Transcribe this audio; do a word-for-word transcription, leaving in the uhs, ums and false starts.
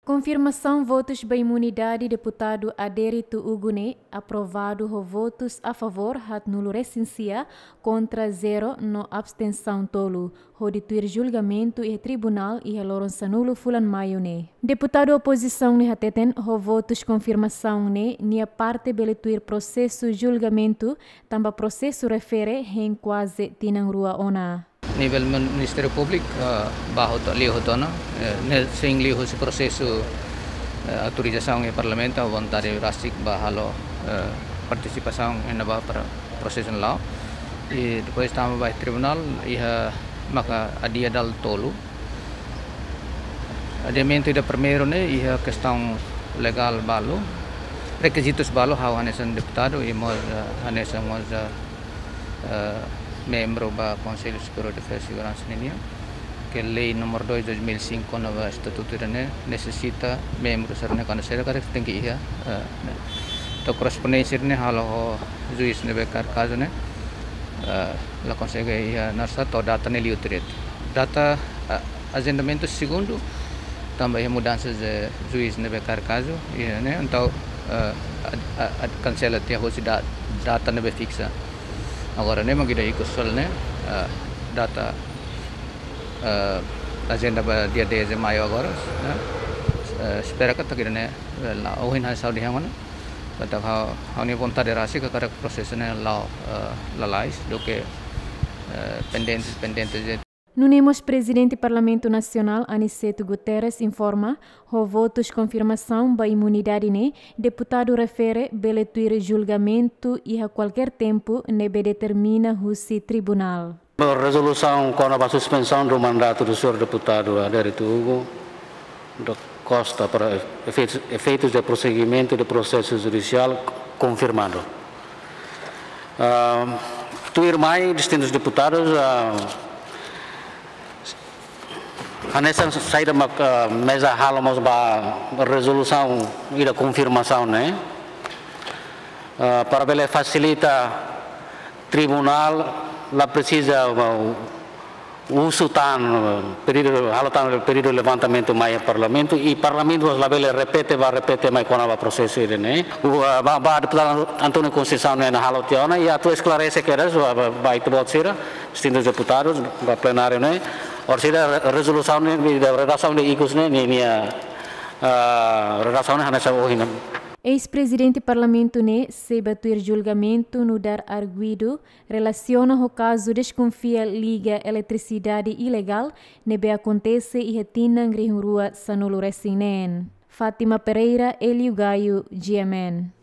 Konfirmasaun votus ba imunidade deputadu Adérito Hugo ne'e aprovadu ho votus a favór haatnulu resin sia, kontra zero no abstensaun tolu, hodi tuir julgamentu iha tribunál iha loron sanulu fulan Maiu ne'e. Deputadu opozisaun ne'e hateten ho votus konfirmasaun ne'e nia parte bele tuir prosesu julgamentu, tanba prosesu refere hein kuaze tinan rua ona. Nivel Min-, Ministériu Públiku, eh, ba hotu, liu hotu ona, eh, ne'e sei liu husi prosesu, eh, autorizasaun iha Parlamentu, vontade rasik ba halo, eh, partisipasaun iha ne'ebá para prosesu la'o. I depois tama ba tribunál, iha maka adia dala tolu. Adiamentu ida primeiru ne'e iha kestaun legál balu, rekizitus balu, ha'u hanesan deputadu i mós, eh, hanesan mós, eh, eh, membru ba Konsellu Superiór Defeza i Seguransa ninian, ke lei númeru dois, dois mil e cinco, no ba estatutu ida-ne'e nesesita membru sira-ne'e kuandu sira karik tenke iha, eh, ne'e. To'o korrespondénsia ne'e halo ho juís ne'ebé kaer kazu ne'e, eh, la konsege iha narsa to'o data ne'e liu tiha de'it. Data, eh, ajendamentu segundu, tanba iha mudansa de juís ne'ebé kaer kazu, iha ne'e, entaun, eh, ad-, ad-, ad-, kansela tiha husi da-, data ne'ebé fiksa. Agora ne'e mak ida ikus fali ne'e, eh, data, eh, ajenda ba dia dez de Maiu agora, ne'e? Eh, espera katak ida-ne'e, eh, la'o ohin hanesan ha'u dehan ona. Katak ha'u, ha'u-nia vontade rasik katak prosesu ne'e la'o, eh, lalais, duké, eh, pendente, pendente de Nune'e mós Prezidente Parlamentu Nasionál Aniceto Guterres informa, ho votus konfirmasaun ba imunidade ne'e, deputadu refere bele tuir julgamentu iha kualkér tempu ne'ebé determina husi tribunál. Rezolusaun kona-ba suspensaun do mandatu do señór deputadu Adérito Hugo da Costa para efeitus, efeitus de prosseguimento de processo judicial confirmado. Ah, tuirmai, distintus deputadus, ah, hanesan saida mak, ah, meza halo mós ba rezolusaun ida konfirmasaun ne'e, ah, para bele fasilita tribunál la presiza, ah, husu tan, pedidu, halo tan pedidu levantamentu mai Parlamentu, i Parlamentu labele repete ba, repete mai kona-ba prosesu ida-ne'e. O, ah, ba, ba deputadu António Conceição ne'e halo tiha ona, i atu esklarese kedas ba, ba, ba ita-boot sira, distintus deputadus, ba plenáriu ne'e, orsida re-, rezolusaun ne'e, ida redasaun ida ikus ne'e, nia, nia, ah, redasaun ne'e hanesan ohin. Eis-Prezidente Parlamentu ne'e sei ba tuir julgamentu nu'udar arguidu relasiona ho kazu deskonfia liga eletrisidade ilegál ne'ebé akontese iha tinan rihun rua sanulu resin neen. Fátima Pereira, Hélio Gaio, G M N.